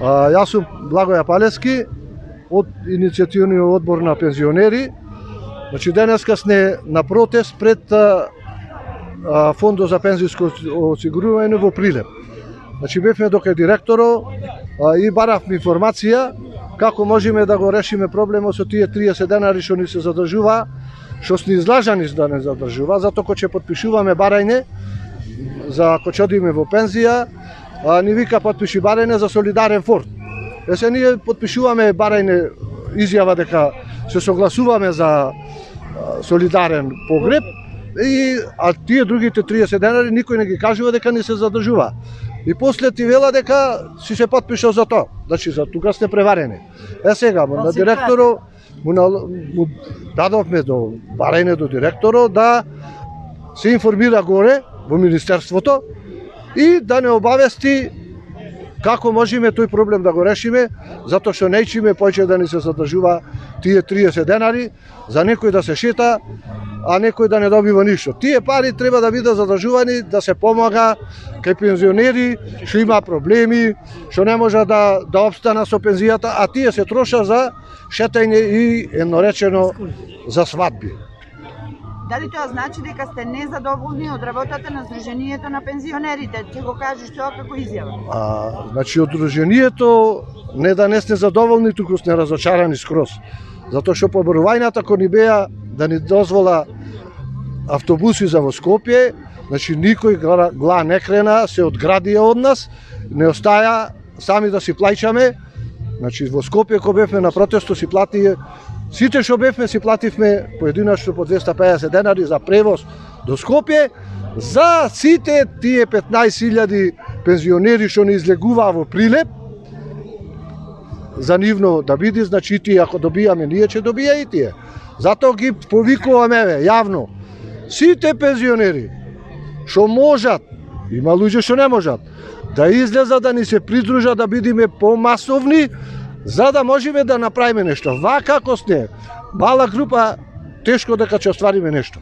Јас сум Благоја Палески од иницијативниот одбор на пензионери. Значи денеска сме на протест пред Фондот за пензиско осигурување во Прилеп. Значи бевме дока директорот и баравме информација како можеме да го решиме проблемот со тие 30 денари што ни се задржува, што сме излажани да не задржува, затоа кога ќе подпишуваме барање за кога ќе одиме во пензија, ни вика подпиши барање за солидарен фонд. Се ние подпишуваме барање изјава дека се согласуваме за солидарен погреб, а тие другите 30 денари никој не ги кажува дека не се задржува. И после ти вела дека си се подпишал за тоа. Значи за тука сте преварени. Сега на директорот му дадовме до барање до директорот да се информира горе во министерството и да не обавести како можеме тој проблем да го решиме, затоа што неќиме поќе да ни се задржува тие 30 денари, за некој да се шета, а некој да не добива ништо. Тие пари треба да бидат задржувани, да се помага кај пензионери што има проблеми, што не може да обстана со пензијата, а тие се троша за шетање и едноречено за свадби. Дали тоа значи дека сте незадоволни од работата на Сдруженијето на пензионерите? Ќе го кажеш тоа како изјава? Значи од Сдруженијето не да не сте задоволни, туку сте разочарани скроз. Затоа што побарувањата кои ни беа да ни дозвола автобуси за во Скопје, значи никој гла не крена, се одградија од нас, не остаја сами да си плаќаме. Значи во Скопје кога бевме на протесто си плати, сите што бевме си плативме поединачно по 250 денари за превоз до Скопје, за сите тие 15.000 пензионери што не излегуваа во Прилеп, за нивно да биде, значи тие ако добијаме, ние ќе добија и тие. Затоа ги повикуваме јавно. Сите пензионери што можат, има луѓе што не можат, да излезат да ни се придружат, да бидеме помасовни, за да можеме да направиме нешто. Вака како сте, мала група, тешко дека ќе оствариме нешто.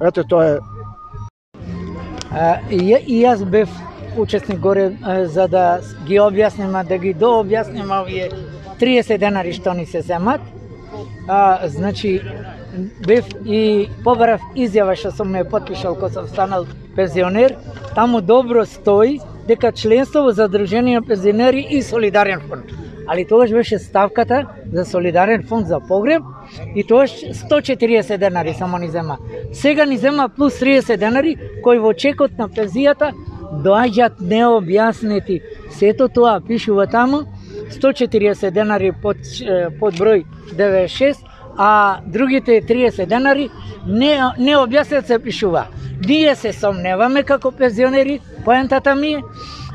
Ете, тоа е. И јас бев учесник горе за да ги објасниме, да ги дообјасниме овие 30 денари што ни се земат. Значи, бев и побарав изјава што сум ме подпишал кога сум станал пензионер. Таму добро стои дека членство во Задружение пензионери и солидарен фонд. Али тогаш беше ставката за солидарен фонд за погреб и тогаш 140 денари само ни зема. Сега ни зема плюс 30 денари кои во чекот на пензијата доаѓаат необјаснети. Сето тоа пишува таму, 140 денари под број 96, а другите 30 денари необјаснет се пишува. Ние се сомневаме како пензионери, поентата ми е,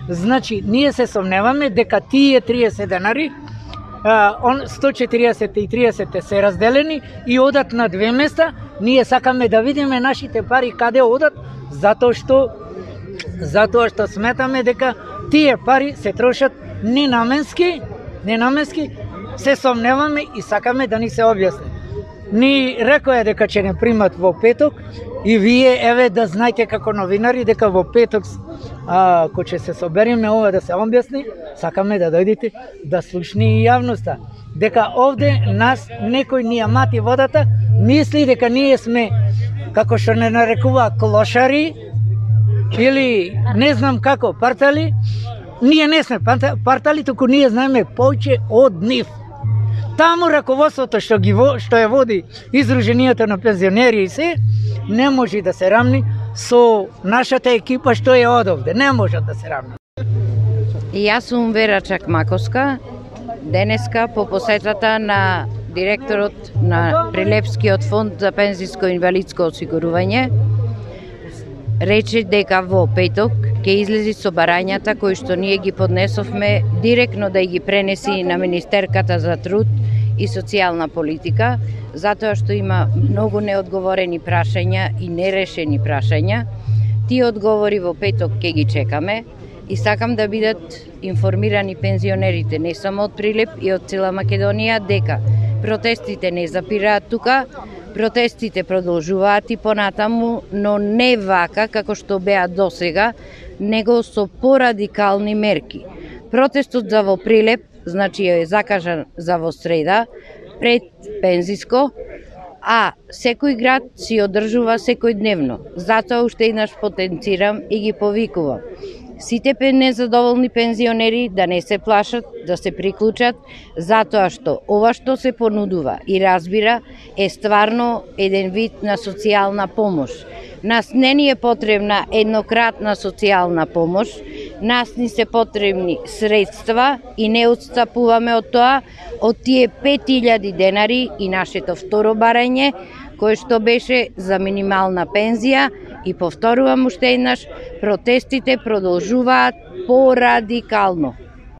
значи ние се сомневаме дека тие 30 денари, 140 и 30 се разделени и одат на две места. Ние сакаме да видиме нашите пари каде одат, затоа што сметаме дека тие пари се трошат ненаменски, се сомневаме и сакаме да ни се објасни. Ни рекоа дека ќе не примат во петок и вие еве да знаете како новинари дека во петок кога ќе се собереме ова да се објасни, сакаме да дојдете да слушни и јавноста. Дека овде нас некој ни ја мати водата, мисли дека ние сме како што не нарекува клошари или не знам како партали. Ние не сме партали, туку ние знаеме повеќе од нив. Таму раководството што ја води Издруженијето на пензионери и се, не може да се рамни со нашата екипа што е одовде. Не може да се рамни. Јас сум Вера Чакмаковска. Денеска по посетата на директорот на Прилепскиот фонд за пензиско и инвалидско осигурување рече дека во петок ќе излези со барањата кои што ние ги поднесовме директно да ги пренеси на Министерката за труд и социјална политика, затоа што има многу неодговорени прашања и нерешени прашања. Тие одговори во петок ќе ги чекаме и сакам да бидат информирани пензионерите не само од Прилеп и од цела Македонија дека протестите не запираат тука, протестите продолжуваат и понатаму, но не вака како што беа досега, него со порадикални мерки. Протестот за во Прилеп, значи е закажан за во среда, пред пензиско, а секој град си одржува секојдневно. Затоа уште еднаш потенцирам и ги повикувам сите незадоволни пензионери да не се плашат, да се приклучат, затоа што ова што се понудува и разбира е стварно еден вид на социјална помош. Нас не ни е потребна еднократна социјална помош, нас ни се потребни средства и не отстапуваме од тоа, од тие 5000 денари и нашето второ барање, кое што беше за минимална пензија, и повторувам уште еднаш, протестите продолжуваат порадикално.